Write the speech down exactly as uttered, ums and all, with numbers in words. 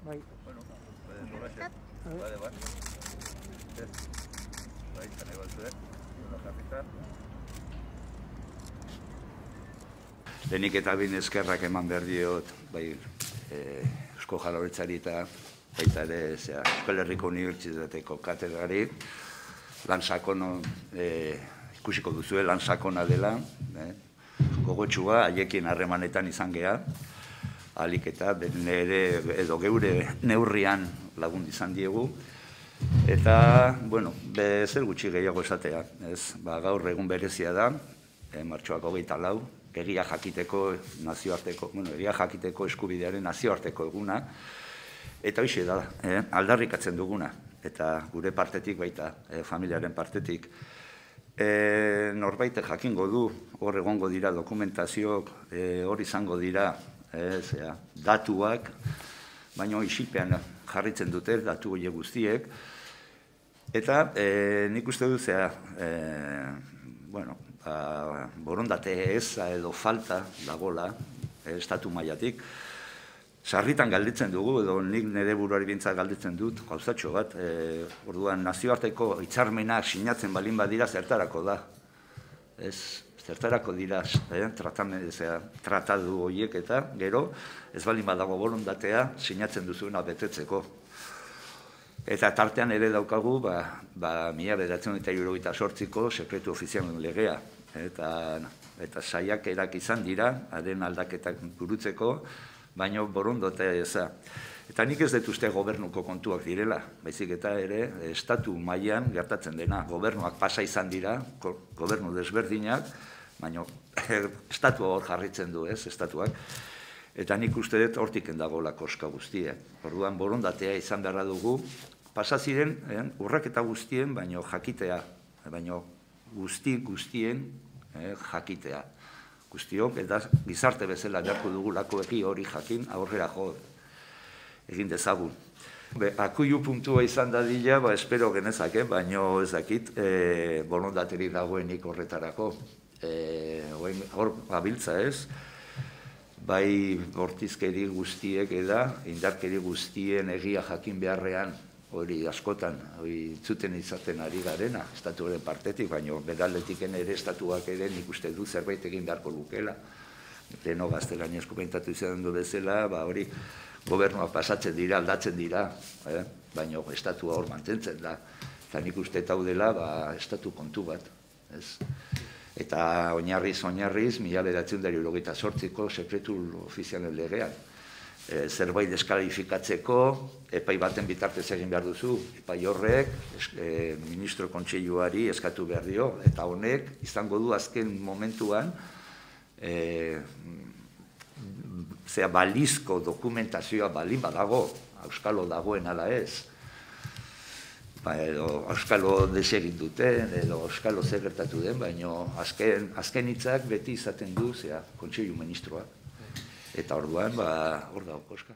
Bai. Bueno, pueden doblarse. Vale, vale. Bai, zane batzue. Una jarrita. Lehenik eta bin eskerrak eman behar diot, bai, Eusko Jaurlaritzari eta baita ere, Euskal Herriko Unibertsitateko katedrari, lan sakono ikusiko duzue, lan sakona dela, gogotxua, haiekin harremanetan izan geha, ahalik eta nire edo geure neurrian lagun izan diegu, eta, bueno, zer gutxi gehiago esatea, ez, ba, gaur egun berezia da, martxoak hogeita lau, egia jakiteko nazioarteko, bueno, egia jakiteko eskubidearen nazioarteko eguna, eta hoxe da, eh, aldarrikatzen duguna, eta gure partetik baita, eh, familiaren partetik. Eh, norbait jakingo du, hor egongo dira dokumentazioak, eh, hor izango dira, eh, zera, datuak, baina isilpean jarritzen dute, datu horiek guztiek, eta eh, nik uste du zera, eh, bueno, ba, borondate eza edo falta dagola, eh, estatu mailatik, sarritan galditzen dugu, edo nik nire buruari bintzat galditzen dut, gauzatxo bat, e, orduan nazioarteko hitzarmenak sinatzen balin badira zertarako da. Ez, zertarako dira eh, tratadu horiek eta gero, ez balin badago borondatea sinatzen duzuena betetzeko. Eta tartean ere daukagu, ba, ba, mila bederatziehun eta hirurogeita zortziko sekretu ofizialen legea. Eta, eta saiakerak izan dira, haren aldaketak burutzeko, baina borondatea eza. Eta nik ez dut uste gobernuko kontuak direla, baizik eta ere estatu mailan gertatzen dena. Gobernuak pasa izan dira, gobernu desberdinak, baina estatua hor jarritzen du, ez, estatuak. Eta nik uste dut hortiken dagoela koska guztia. Orduan borondatea izan beharra dugu, pasa ziren urraketa guztien, baina jakitea, baina guzti guztien jakitea. Guztiok, eta gizarte bezala beharko dugulako egi hori jakin, aurrera jo egin dezagun. Akuilu puntua izan dadila, ba, espero genezake, baina ez dakit, borondateri dagoenik horretarako. Hor gabiltza ez, bai bortizkeri guztiek eda, indarkeri guztien egia jakin beharrean, hori askotan, hori zuten izaten ari garena, estatuaren partetik, baina beraldetiken ere estatuak ere nik uste du zerbait egin beharko lukela. Leno gaztelaniazko pentatu izan du bezala, ba hori gobernuak pasatzen dira, aldatzen dira, baina estatua hor mantentzen da. Eta nik uste eta dela, ba, estatu kontu bat. Eta oinarriz, oinarriz, mila bederatziehun eta hirurogeita zortziko sekretu ofizialen legean. Zerbait deskalifikatzeko, epai baten bitartez egin behar duzu, epai horrek, ministro kontseiluari eskatu behar dio, eta honek izango du azken momentuan zera balizko dokumentazioa balin badago, auskalo dagoen ala ez, edo auskalo desegin duten, edo auskalo zer gertatu den, baina azken hitzak beti izaten du, zera kontseilu ministroak. Eta orduan, ba, hor dago koska.